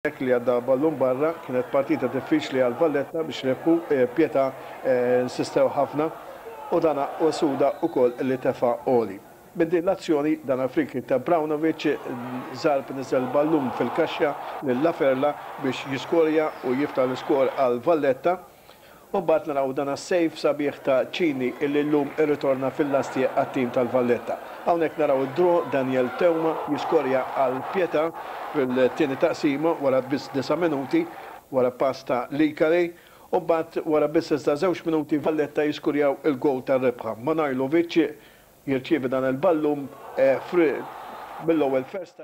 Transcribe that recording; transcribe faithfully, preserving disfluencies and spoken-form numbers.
Li għadda ballun barra. Kienet partita diffiċli għal Valletta biex rebħu. Pietà insistew ħafna u dana u Suda ukoll li tefa' għoli. Minn din l-azzjoni, dan free ta' Braunovic, Zarb niżel ballun fil-kaxxa lil Laferla biex jiskorja u jiftaħ l-iskor għal Valletta. U mbagħad naraw dan save sabiħ ta' Ċini illi llum irritorna fil-lasti għat-tim tal-Valletta. Hawnhekk naraw id-draw, Daniel Teuma jiskorja għal Pietà fil-tieni taqsima wara biss disa' minuti wara pass ta' Likari, u mbagħad wara biss iżda żewġ minuti Valletta jiskurjaw il-gol tar-rebħa. Manojlovic jirċievi dan il-ballum mill-ewwel first